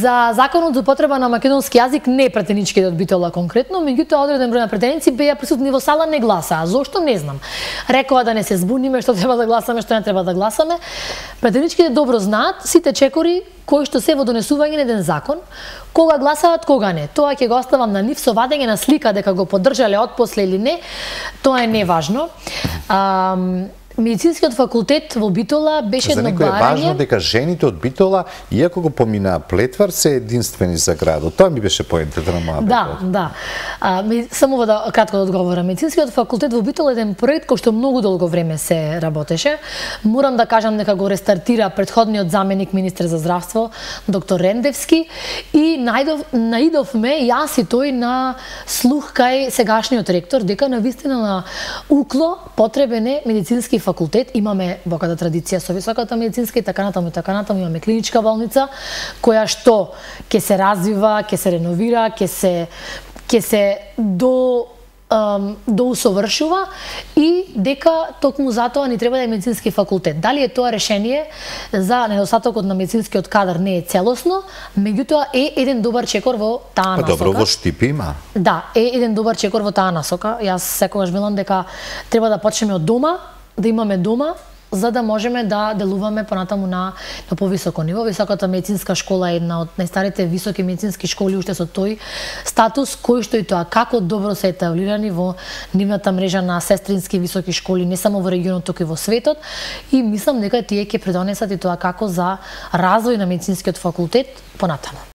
За законот за употреба на македонски јазик не претеничките од Битола конкретно, меѓутоа одреден број на претеници беа присутни во сала, не гласаа. Зошто не знам. Рекоа да не се збуниме што треба да гласаме, што не треба да гласаме. Претеничките добро знаат сите чекори кои што се во донесување на еден закон, кога гласаат, кога не. Тоа ќе го оставам на нив со вадење на слика дека го поддржале отпосле или не. Тоа е неважно. Медицинскиот факултет во Битола беше едно барање. За некој е важно дека жените од Битола, иако го поминаа Плетвар, се единствени за градот. Тоа ми беше поентата на мојата. Да. Само да кратко да одговорам. Медицинскиот факултет во Битола е еден проект кој што многу долго време се работеше. Морам да кажам дека го рестартира претходниот заменик министер за здравство, доктор Рендевски, и наидовме јас и тој на слух кај сегашниот ректор дека навистина на укло потребен е медицински факултет. Имаме богата традиција со високата медицинска и така натаму, имаме клиничка болница која што ќе се развива, ќе се реновира, ќе се доусовршува и дека токму затоа ни треба да е медицински факултет. Дали е тоа решение за недостатокот на медицинскиот кадар не е целосно, меѓутоа е еден добар чекор во таа насока. Добро, во Штипи има. Да, е еден добар чекор во таа насока. Јас секогаш велам дека треба да почнеме од дома, да имаме дома, за да можеме да делуваме понатаму на повисоко ниво. Високата медицинска школа е една од најстарите високи медицински школи уште со тој статус, кој што и тоа како добро се етаблирани во нивната мрежа на сестрински високи школи, не само во регионот, туку и во светот. И мислам дека тие ќе придонесат и тоа како за развој на медицинскиот факултет понатаму.